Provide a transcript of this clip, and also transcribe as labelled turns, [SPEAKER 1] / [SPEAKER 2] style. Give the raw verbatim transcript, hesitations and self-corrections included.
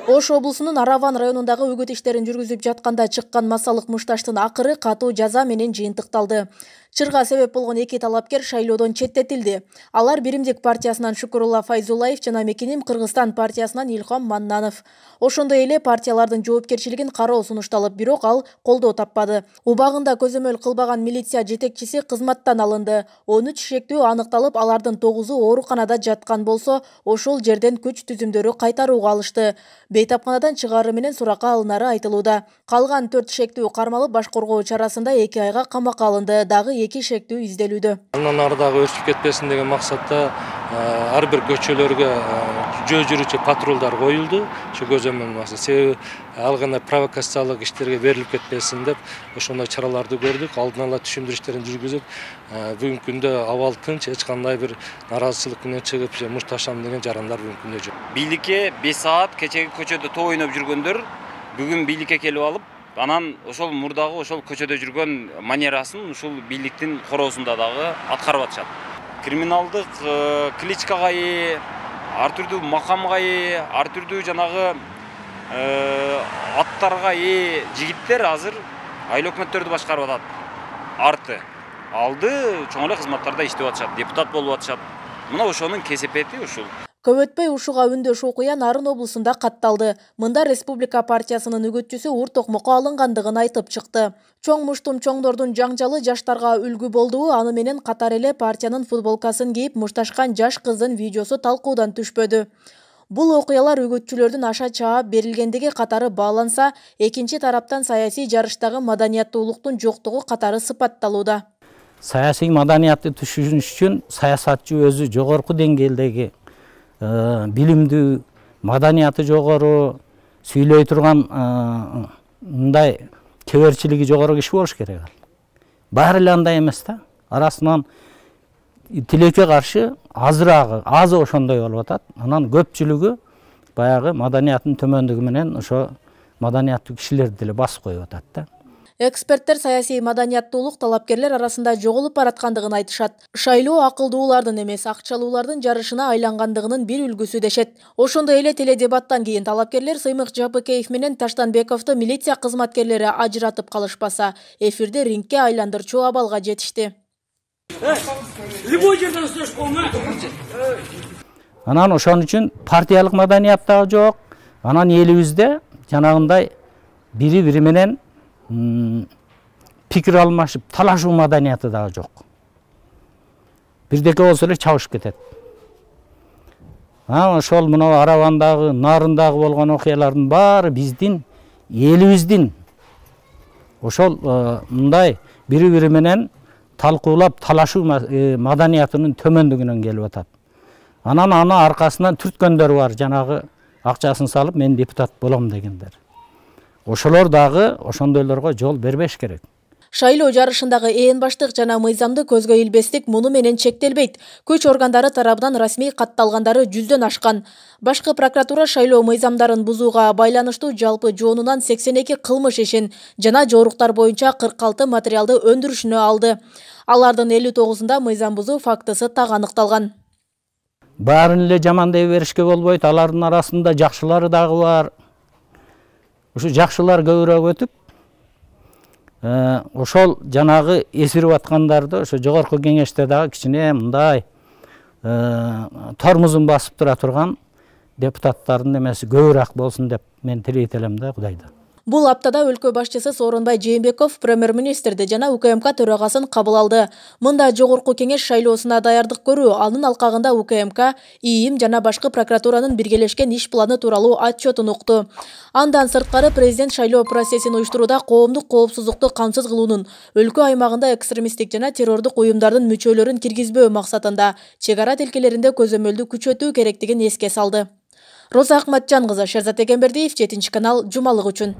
[SPEAKER 1] Ош облусунун Араван районундагы үгүт иштерин жүргүзүп жатканда чыккан массалык мушташтын акыры катуу жаза менен жыйынтыкталды. Чырга себеп болгон эки талапкер шайлоодон четтетилди. Алар Биримдик партиясынан Шукурулла Файзуллаев жана Мекеним Кыргызстан партиясынан Илхом Маннанов. Ошондой эле партиялардын жоопкерчилигин кароо сунушталып, бирок ал колдоо таппады. Убагында көзөмөл кылбаган милиция жетекчиси кызматтан алынды. он үч шектүү аныкталып, алардын тогузу ооруканада жаткан болсо, ошол жерден күч түзүмдөрү кайтарууга алышты. Бейтапканадан чыгаары менен суракка алынары айтылууда. Калган төрт шектүү кармалып, баш коргоо чарасында эки айга камакка алынды. Дагы эки шектүү изделүүдө.
[SPEAKER 2] Андан ары дагы өршүп кетпесин деген максатта ар бир көчөлөргө жөө жүрүүчү патрулдар коюлду. Ошо көзөмөл максат. Себеби ал кандай провокациялык иштерге берилип кетпесин деп ошондой чараларды көрдүк. Алдын ала түшүндүрүү иштерин жүргүзүп, бүгүнкү күндө абал тынч, эч кандай бир наразычылык менен чыгып, же мушташам деген жарандар бүгүнкү күндө жок.
[SPEAKER 3] Бийликке беш саат кечеги көчөдө топ ойноп жүргөндөр бүгүн бийликке келип алып, анан ошол мурдагы ошол көчөдө жүргөн манерасын ушул бийликтин короосунда дагы аткарып атышат. Криминалдык кличкага ээ, ар түрдүү макамга ээ, ар түрдүү жанагы аттарга ээ жигиттер азыр айыл өкмөттөрдү башкарып атат. Арты алды чоң эле кызматтарда иштеп атышат, депутат болуп атышат. Мына ошонун кесепети ушул.
[SPEAKER 1] Көп өтпөй ушуга үндөш окуя Нарын облусунда катталды. Мында Республика партиясынын үгүтчүсү Ур Токмокко алынгандыгын айтып чыкты. Чоң муштум чоңдордун жаңжалы жаштарга үлгү болду. Аны менен катар эле партиянын футболкасын кийип мушташкан жаш кыздын видеосу талкуудан түшпөдү. Бул окуялар үгүтчүлөрдүн аша чаап берилгендиги катары бааланса, экинчи тараптан саясий жарыштагы маданияттуулуктун жоктугу катары сыпатталууда.
[SPEAKER 4] Саясий маданиятты түшүнүш үчүн саясатчы өзү жогорку деңгээлдеги билимдүү, маданияты жогору, сүйлөй турган мындай кеберчилиги жогору киши болуш керек. Баары эле андай эмес да. Арасынан тилекке каршы азыраагы, азы ошондой болуп атат. Анан көпчүлүгү баягы маданиятынын төмөндүгү менен ошо маданияттуу кишилерди деле басып коюп атат да.
[SPEAKER 1] Эксперттер саясий маданияттуулук талапкерлер арасында жоголуп бараткандыгын айтышат. Шайлоо акылдуулардын эмес, акчалуулардын жарышына айлангандыгынын бир үлгүсү дешет. Ошондой эле теледебаттан кийин талапкерлер Сыймык Жапыкеев менен Таштанбековду милиция кызматкерлери ажыратып калышпаса, эфирде рингке айландырчу абалга жетишти.
[SPEAKER 4] Анан ошон үчүн партиялык маданият дагы жок. Анан элибизде жанагындай бири-бири менен пикир алмашып, талашуу маданияты дагы жок. Бирдеке болсо эле чабышып кетет. А ошол мына Аравандагы, Нарындагы болгон окуялардын баары биздин элибиздин ошол мындай бири-бири менен талкуулап талашуу маданиятынын төмөндүгүнөн келип атат. Анан аны аркасынан түрткөндөр бар, жанагы акчасын салып мен депутат болом дегендер. Ошолор дагы ошондойлорго жол бербеш керек.
[SPEAKER 1] Шайлоо жарышындагы ээн баштык жана мыйзамды көзгө илбестик муну менен чектелбейт. Күч органдары тарабынан расмий катталгандары жүздөн ашкан. Башкы прокуратура шайлоо мыйзамдарын бузууга байланыштуу жалпы жоонунан сексен эки кылмыш ишин жана жоруктар боюнча кырк алты материалды өндүрүшүнө алды. Алардын элүү тогузунда мыйзам бузуу фактысы так аныкталган.
[SPEAKER 4] Баарын эле жаман дей беришке болбойт. Алардын арасында жакшылары дагы бар. Ушу жакшылар көбүрөөк өтүп, ошол жанагы эсирип аткандарды ошо жогорку кеңеште дагы кичине мындай тормузун басып тура турган депутаттардын эмеси көбүрөөк болсун деп мен тилейт элем да Кудайдан.
[SPEAKER 1] Бул аптада өлкө башчысы Сооронбай Жээнбеков премьер-министрди жана УКМК төрагасын кабыл алды. Мында жогорку кеңеш шайлоосуна даярдык көрүү, анын алкагында УКМК, ИИМ жана башкы прокуратуранын биргелешкен иш планы тууралуу отчетун укту. Андан сырткары президент шайлоо процессин уюштурууда коомдук коопсуздукту камсыз кылуунун, өлкө аймагында экстремисттик жана террордук уюмдардын мүчөлөрүн киргизбөө максатында чек ара тилкелеринде көзөмөлдү күчөтүү керектигин эске салды. Роза Акматжан кызы, Шерзат Эгембердиев, жетинчи канал, жумалык үчүн.